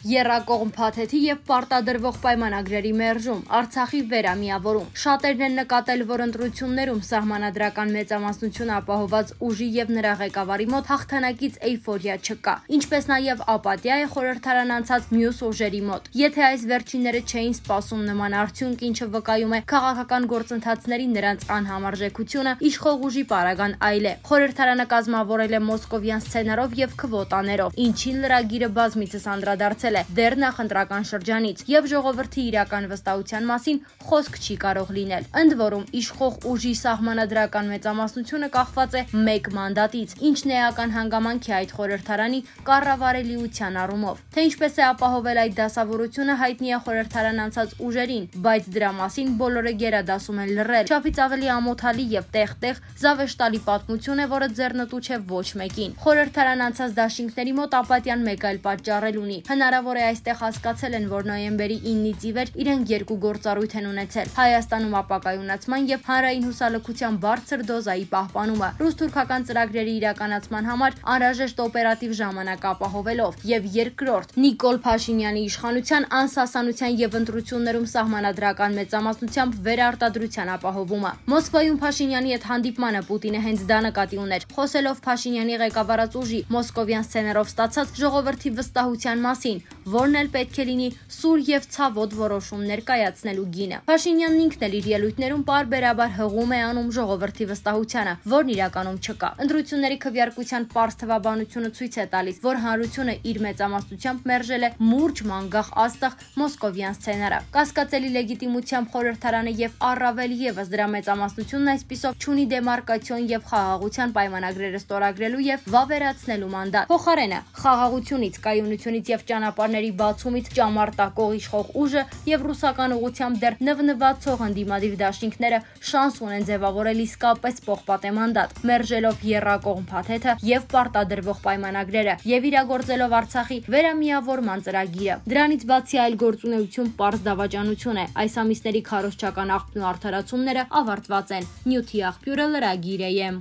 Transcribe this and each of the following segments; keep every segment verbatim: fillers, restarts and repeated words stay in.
Եռակողմ փաթեթի և պարտադրվող պայմանագրերի մերժում, Արցախի վերամիավորում։ Շատերն են նկատել, որ ընտրություններում սահմանադրական մեծամասնություն ապահոված ուժի և նրա ղեկավարի մոտ հաղթանակից էյֆորիա չկա, ինչպես նաև ապատիա է խորհրդարան անցած մյուս ուժերի մոտ։ Եթե այս վերջինները չէին սպասում նման արդյունք, ինչը վկայում է քաղաքական գործընթացների նրանց անհամարժեքությունը, իշխող ուժի պարագան այլ է։ Խորհրդարանը կազմավորել է մոսկովյան սցենարով և քվոտաներով, ինչին լրագիրը բազմիցս անդրադարձել է դեռ նախընտրական շրջանից, եւ ժողովրդի իրական վստահության մասին խոսք չի կարող լինել։ Ընդ որում, իշխող ուժի սահմանադրական մեծամասնությունը կախված է մեկ մանդատից, ինչն էական հանգամանք է այդ խորհրդարանի կառավարելիության առումով։ Թե ինչպես է ապահովել այդ դասավորությունը, հայտնի է խորհրդարան անցած ուժերին, բայց դրա մասին բոլորը գերադասում են լռել։ Չափից ավելի ամոթալի եւ տեղ-տեղ զավեշտալի պատմություն է, որը ձեռնտու չէ ոչ մեկին։ Խորհրդարան անցած դաշինքների մոտ ապատիան մեկ այլ պատճառ ունի։ Հնարավոր է այստեղ հասկացել են, որ նոյեմբերի իննից ի վեր իրենք երկու գործառույթ են ունեցել՝ Հայաստանում ապակայունացման եւ հանրային հուսալքության բարձր դոզայի պահպանումը, ռուս-թուրքական ծրագրերի իրականացման համար անհրաժեշտ օպերատիվ ժամանակ ապահովելով, եւ երկրորդ՝ Նիկոլ Փաշինյանի իշխանության անսասանության եւ ընտրություններում սահմանադրական մեծամասնությամբ վերարտադրության ապահովումը։ Մոսկվայում Փաշինյանի հետ հանդիպմանը Պուտինը հենց դա նկատի ուներ, խոսելով Փաշինյանի ղեկավարած ուժի մոսկովյան սցենարով ստացած ժողովրդի վստահության մասին, որն էլ պետք է լինի սուր եւ ցավոտ որոշումներ կայացնելու գինը։ Փաշինյանն ինքն էլ իր ելույթներում պարբերաբար հղում է անում ժողովրդի վստահությանը, որն իրականում չկա։ Ընտրությունների քվեարկության պարզ թվաբանությունը ցույց է տալիս, որ հանրությունը իր մեծամասնությամբ մերժել է մուրջ մանգաղ աստղ մոսկովյան սցենարը։ Կասկածելի լեգիտիմությամբ խորհրդարանը եւ առավել եւս դրա մեծամասնությունն այսպիսով չունի դեմարկացիոն եւ խաղաղության պայմանագրերը ստորագրելու եւ վավերացնելու մանդատ։ Փոխարենը խաղաղությունից, կայունությունից եւ ճանապարհների բացումից ճամարտակող իշխող ուժը եւ ռուսական ուղությամբ դեռ նվնվացող ընդդիմադիր դաշինքները շանս ունեն ձևավորել իսկապես պողպատե մանդատ, մերժելով եռակողմ փաթեթը եւ պարտադրվող պայմանագրերը եւ իրագործելով Արցախի վերամիավորման ծրագիրը։ Դրանից բացի այլ գործունեություն պարզ դավաճանություն է։ Այս ամիսների քարոզչական աղբն ու արդարացումները ավարտված են։ Նյութի աղբյուրը լրագիր է։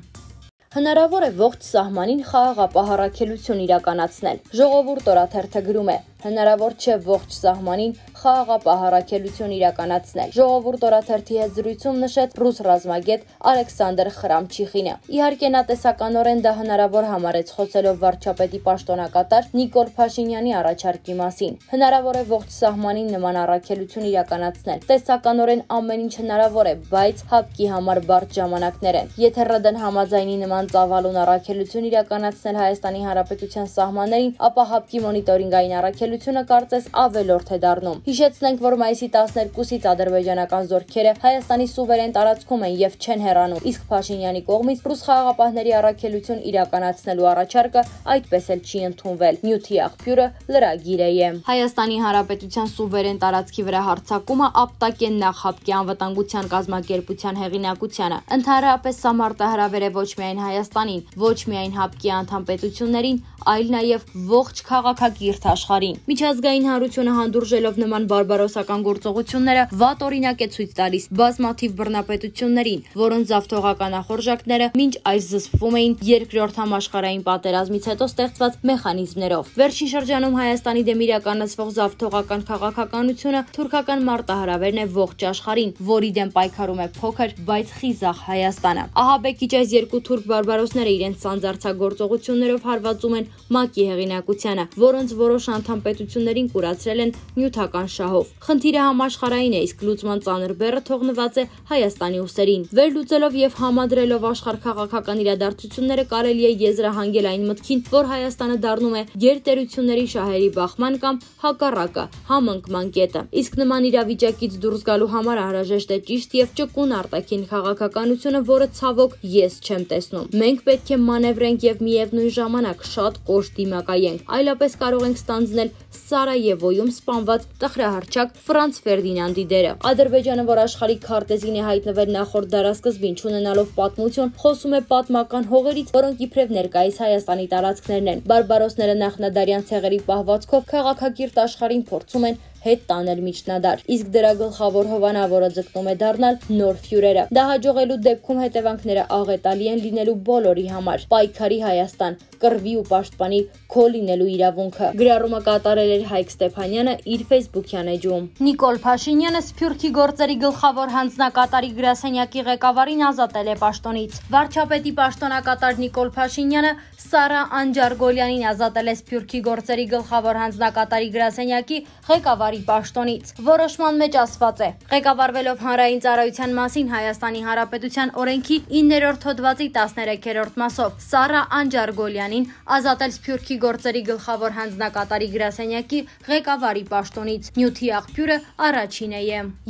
Հնարավոր է ողջ սահմանին խաղաղապահարակելություն իրականացնել։ Ժողովուրդ օրաթերթը գրում է. հնարավոր չէ ողջ սահմանին խաղաղապահարակելություն իրականացնել։ Ժողովուրդ օրաթերթի հետ զրույցում նշեց ռուս ռազմագետ Ալեքսանդր Խրամչիխինը։ Իհարկե նա տեսականորեն դա հնարավոր համարեց, խոսելով վարչապետի պաշտոնակատար Նիկոլ Փաշինյանի առաջարկի մասին։ Հնարավոր է ողջ սահմանին նման առաքելություն իրականացնել։ Տեսականորեն ամեն ինչ հնարավոր է, բայց հապկի համար բարդ ժամանակներ են։ Եթե ՌԴ-ն համաձայնի նման ծավալուն առաքելություն իրականացնել Հայաստանի Հանրապետության սահմաններին, ապա հապկի մոնիտորինգային առաքելությունը կարծես ավելորդ է դառնում։ Հիշեցնենք, որ մայիսի տասներկուսից ադրբեջանական զորքերը Հայաստանի սուվերեն տարածքում են եւ չեն հեռանում, իսկ Փաշինյանի կողմից ռուս խաղաղապահների առաքելություն իրականացնելու առաջարկը այդպես էլ չի ընդունվել։ Նյութի աղբյուրը լրագիր է։ Հայաստանի Հանրապետության սուվերեն տարածքի վրա հարձակումը ապտակ է նախ հապկի անվտանգության կազմակերպության հեղինակությանը։ Ընդհանրապես սա մարտահրավեր է ոչ միայն Հայաստանին, ոչ միայն հապկի անդամ պետություններին, այլ նաև ողջ քաղաքակիրթ աշխարհին։ Միջազգային հանրությունը հանդուրժելով նման բարբարոսական գործողությունները վատ օրինակ է ցույց տալիս բազմաթիվ բռնապետություններին, որոնց զավթողական ախորժակները մինչ այս զսպվում էին երկրորդ համաշխարհային պատերազմից հետո ստեղծված մեխանիզմներով։ Վերջին շրջանում Հայաստանի դեմ իրականացվող զավթողական քաղաքականությունը թուրքական մարտահրավերն է ողջ աշխարհին, որի դեմ պայքարում է փոքր, բայց խիզախ Հայաստանը։ Ահաբեկիչ այս երկու թուրք բարբարոսները իրենց սանձարձագործողություններով հարվածում են ՄԱԿ-ի հեղինակությանը, որոնց որոշ անդամ պետություններին կուրացրել են նյութական շահով։ Խնդիրը համաշխարհային է, իսկ լուծման ծանր բեռը թողնված է Հայաստանի ուսերին։ Վերլուծելով եւ համադրելով աշխարհ-քաղաքական իրադարձությունները կարելի է եզրահանգել այն մտքին, որ Հայաստանը դառնում է գերտերությունների շահերի բախման կամ հակառակը համընկման կետը։ Իսկ նման իրավիճակից դուրս գալու համար անհրաժեշտ է ճիշտ եւ ճկուն արտաքին քաղաքականությունը, որը ցավոք ես չեմ տեսնում։ Մենք պետք է մանևրենք եւ միևնույն ժամանակ շատ կոշտ դիմակայենք, այլապես կարող ենք ստանձնել Սարայևոյում սպանված տխրահռչակ Ֆրանց Ֆերդինանդի դերը։ Ադրբեջանը, որ աշխարհի քարտեզին է հայտնվել նախորդ դարասկզբին, չունենալով պատմություն, խոսում է պատմական հողերից, որոնք իբրև ներկայիս Հայաստանի տարածքներն են։ Բարբարոսները նախնադարյան ցեղերի պահվածքով քաղաքակիրթ աշխարհին փորձում են հետ տանել միջնադար, իսկ դրա գլխավոր հովանավորը ձգտում է դառնալ նոր ֆյուրերը։ Դա հաջողելու դեպքում հետևանքները աղետալի են լինելու բոլորի համար։ Պայքարի Հայաստան, կռվի ու պաշտպանի քո լինելու իրավունքը։ Գրառումը կատարել էր Հայկ Ստեփանյանը իր Facebook-յան էջում։ Նիկոլ Փաշինյանը Սփյուռքի գործերի գլխավոր հանձնակատարի գրասենյակի ղեկավարին ազատել է պաշտոնից։ Վարչապետի պաշտոնակատար Նիկոլ Փաշինյանը Սարա Անջարգոլյանին ազատել է Սփյուռքի գործերի գլխավոր հանձնակատարի գրասենյակի ղեկավարի պաշտոնից։ Որոշման մեջ ասված է. ղեկավարվելով հանրային ծառայության մասին Հայաստանի Հանրապետության օրենքի իններորդ հոդվածի տասներեքերորդ մասով Սարա Անջարգոլյանին ազատել Սփյուռքի գործերի գլխավոր հանձնակատարի գրասենյակի ղեկավարի պաշտոնից։ Նյութի աղբյուրը առաջին է։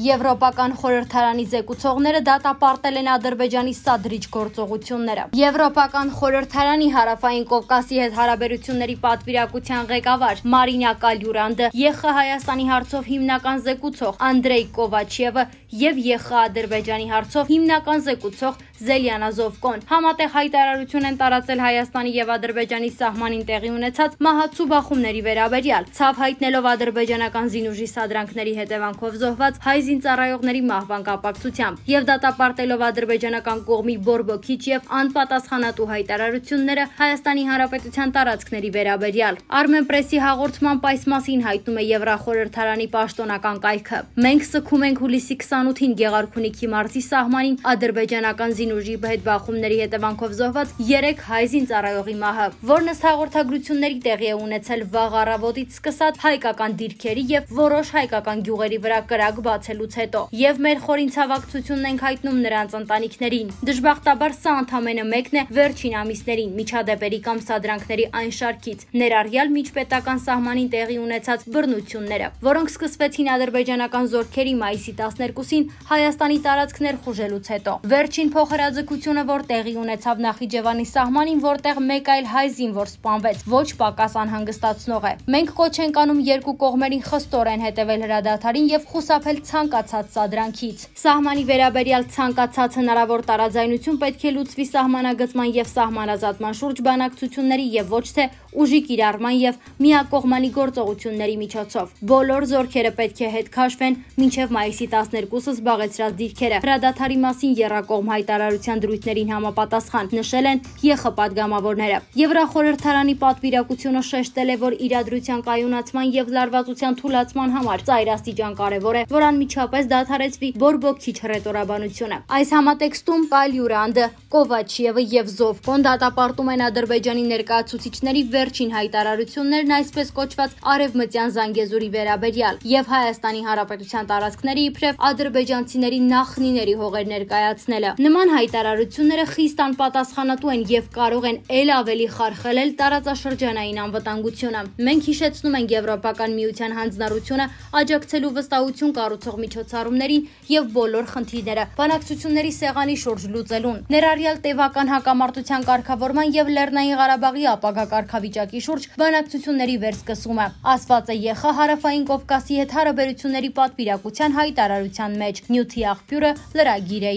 Եվրոպական խորհրդարանի զեկուցողները դատապարտել են Ադրբեջանի սադրիչ գործողությունները։ Եվրոպական խորհրդարանի Հարավային Կովկասի հետ հարաբերությունների պատվիրակության ղեկավար Մարինա Կալյուրանդը, ԵԽ Հայաստանի հարցով հիմնական զեկուցող Անդրեյ Կովաչևը եւ ԵԽ Ադրբեջանի հարցով հիմնական զեկուցող Զելիանա Զովկոն համատեղ հայտարարություն են տարածել Հայաստանի եւ Ադրբեջանի սահմանին տեղի ունեցած մահացու բախումների վերաբերյալ, ցավ հայտնելով ադրբեջանական զինուժի սադրանքների հետևանքով զոհված հայ զինծառայողների մահվան կապակցությամբ եւ դատապարտելով ադրբեջանական կողմի բորբոքիչ եւ անպատասխանատու հայտարարությունները Հայաստանի Հանրապետության տարածքների վերաբերյալ։ Armenpress-ի հաղորդման այս մասին հայտնում է Եվրախորհրդարանի պաշտոնական կայքը։ Մենք սգում ենք հուլիսի քսանութին Գեղարքունիքի մարզի սահմանին ադրբեջանական զինուժի հետ բախումների հետևանքով զոհված երեք հայ զինծառայողի մահը, որն ըստ հաղորդագրությունների տեղի է ունեցել վաղ առավոտից սկսած հայկական դիրքերի եւ որոշ հայկական գյուղերի վրա կրակ բացելուց հետո, եւ մեր խորին ցավակցությունն ենք հայտնում նրանց ընտանիքներին։ Դժբախտաբար սա ընդամենը մեկն է վերջին ամիսներին միջադեպերի կամ սադրանքների այն շարքից, ներառյալ միջպետական սահմանին տեղի ունեցած բռնությունները, որոնք սկսվեցին ադրբեջանական զորքերի մայիսի տասներկուսին Հայաստանի տարածք ներխուժելուց հետո։ Վերջին փոխհրաձգությունը, որ տեղի ունեցավ Նախիջևանի սահմանին, որտեղ մեկ այլ հայ զինվոր սպանվեց, ոչ պակաս անհանգստացնող է։ Մենք կոչ ենք անում երկու կողմերին խստորեն հետևել հրադադարին եւ խուսափել ցանկացած սադրանքից։ Սահմանի վերաբերյալ ցանկացած հնարավոր տարաձայնություն պետք է լուծվի սահմանագծման եւ սահմանազատման շուրջ բանակցությունների եւ ոչ թե ուժի կիրառման եւ միակողմանի գործողությունների միջոցով։ Բոլոր զորքերը պետք է հետ քաշվեն մինչեւ մայիսի տասներկուսը զբաղեցրած դիրքերը հրադադարի մասին եռակողմ հայտարարության դրույթներին համապատասխան, նշել են ԵԽ պատգամավորները։ Եվրախորհրդարանի պատվիրակությունը շեշտել է, որ իրադրության կայունացման եւ լարվածության թույլատման համար ծայրաստիճան կարեւոր է, որ անմիջապես դադարեցվի բորբոքիչ հռետորաբանությունը։ Այս համատեքստում Կալյուրանդը, Կովաչևը եւ Զովկոն դատապարտում են Ադրբեջանի ներկայացուցիչների վերջին հայտարարություններն այսպես կոչված արևմտյան Զանգեզուրի վերաբերյալ եւ Հայաստանի Հանրապետության տարածքների իբրև ադրբեջանցիների նախնիների հողեր ներկայացնելը։ Նման հայտարարությունները խիստ անպատասխանատու են եւ կարող են ել ավելի խարխլել տարածաշրջանային անվտանգությունը։ Մենք հիշեցնում ենք Եվրոպական միության հանձնառությունը աջակցելու վստահություն կառուցող միջոցառումներին եւ բոլոր խնդիրները բանակցությունների սեղանի շուրջ լուծելուն, ներառյալ տևական հակամարտության կարգավորման եւ Լեռնային Ղարաբաղի ապագա կարգավիճակի շուրջ բանակցությունների վերսկսումը, ասված է ԵԽ Հարավային Կովկասի հետ հարաբերությունների պատվիրակության հայտարարության մեջ։ Նյութի աղբյուրը լրագիր է։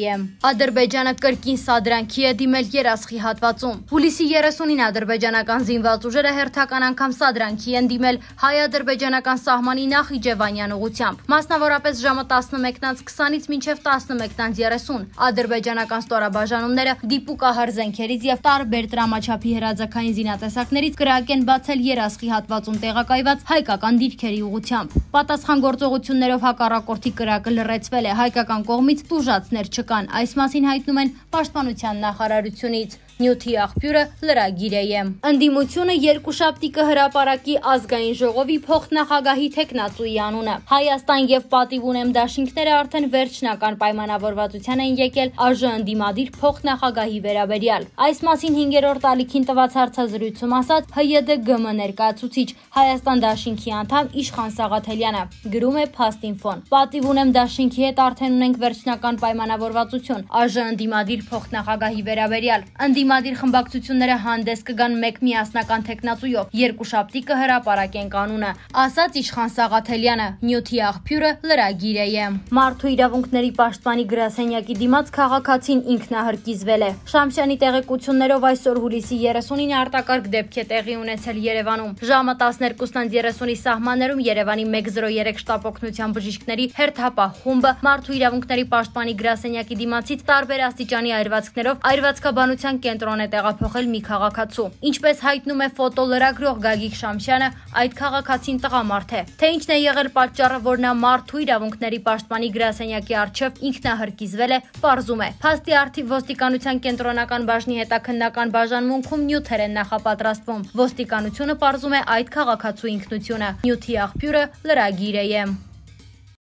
Ադրբեջանը կրկին սադրանքի է դիմել Երասխի հատվածում։ Հուլիսի երեսունին ադրբեջանական զինված ուժերը հերթական անգամ սադրանքի են դիմել հայ-ադրբեջանական սահմանի Նախիջևանյան ուղությամբ, մասնավորապես ժամը տասնմեկից քսանից մինչև տասնմեկից երեսուն։ Ադրբեջանական ստորաբաժանումները դիպուկահար զենքերից եւ տարբեր տրամաչափի հրաձգային զինատեսակներից կրակ են բացել Երասխի հատվածում տեղակայված հայկական դիրքերի ուղությամբ։ Պատասխան գործողություններով հակառակորդի կրակը լռեցվել է, հայկական կողմից տուժածներ չկան։ Այս մասին հայտնում են Պաշտպանության նախարարությունից։ Նյութի աղբյուրը լրագիր է։ Ընդդիմությունը երկուշաբթի կհրապարակի ազգային ժողովի փոխնախագահի թեկնածուի անունը։ Հայաստան եւ Պատիվ ունեմ դաշինքները արդեն վերջնական պայմանավորվածության են եկել ԱԺ ընդդիմադիր փոխնախագահի վերաբերյալ։ Այս մասին հինգերորդ ալիքին տված հարցազրույցում ասաց ՀՅԴԳՄ ներկայացուցիչ Հայաստան դաշինքի անդամ Իշխան Սաղաթելյանը։ Գրում է Փաստինֆոն։ Պատիվ ունեմ դաշինքի հետ արդեն ունենք վերջնական պայմանավորվածություն ԱԺ ընդդիմադիր փոխնախագահի վերաբերյալ։ Ընդդիմադիր խմբակցությունները հանդես կգան մեկ միասնական թեկնածուով, երկուշաբթի կհրապարակեն կանոնը, ասաց Իշխան Սաղաթելյանը, նյութի աղբյուրը լրագիր է։ Մարդու իրավունքների պաշտպանի գրասենյակի դիմաց քաղաքացին ինքնահրկիզվել է։ Շամշյանի տեղեկություններով այսօր հուլիսի երեսունին արտակարգ դեպք է տեղի ունեցել Երևանում։ Ժամը տասներկուսն երեսունի սահմաններում Երևանի մեկ զրո երեք շտապօգնության բժիշկների հերթապահ խումբը մարդու իրավունքների պաշտպանի գրասենյակի դիմացից տարբեր աստիճանի այրվածքներով այրվածքաբանության կենտրոն է տեղափոխել մի քաղաքացու։ Ինչպես հայտնում է ֆոտոլրագրող Գագիկ Շամշյանը, այդ քաղաքացին տղամարդ է։ Թե ինչն է եղել պատճառը, որ նա մարդու իրավունքների պաշտպանի գրասենյակի առջև ինքնահրկիզվել է, պարզում է։ Փաստի առթիվ ոստիկանության կենտրոնական բաժնի հետաքննական բաժանմունքում նյութեր են նախապատրաստվում։ Ոստիկանությունը պարզում է այդ քաղաքացու ինքնությունը։ Նյութի աղբյուրը լրագիր է։